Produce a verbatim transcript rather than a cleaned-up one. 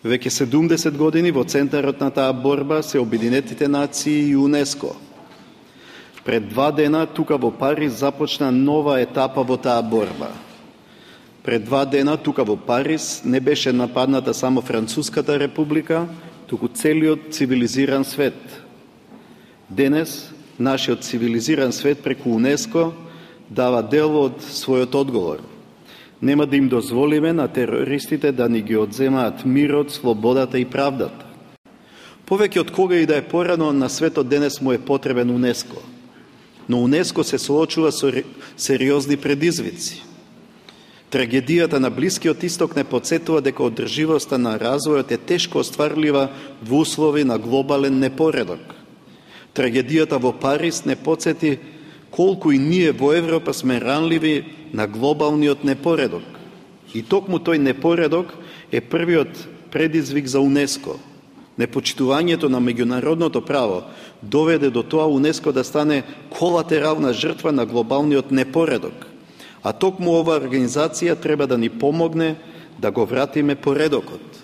Веќе седумдесет години во центарот на таа борба се Обединетите нации и УНЕСКО. Пред два дена тука во Париз започна нова етапа во таа борба. Пред два дена тука во Париз не беше нападната само Француската република, туку целиот цивилизиран свет. Денес нашиот цивилизиран свет преку УНЕСКО дава дел од својот одговор. Нема да им дозволиме на терористите да ни ги одземаат мирот, слободата и правдата. Повеќе од кога и да е порано на светот денес му е потребен УНЕСКО. Но УНЕСКО се соочува со сериозни предизвици. Трагедијата на Блискиот Исток не подсетува дека одрживоста на развојот е тешко остварлива во услови на глобален непоредок. Трагедијата во Париз не подсети колку и ние во Европа сме ранливи на глобалниот непоредок. И токму тој непоредок е првиот предизвик за УНЕСКО. Непочитувањето на меѓународното право доведе до тоа УНЕСКО да стане колатерална жртва на глобалниот непоредок. А токму оваа организација треба да ни помогне да го вратиме поредокот.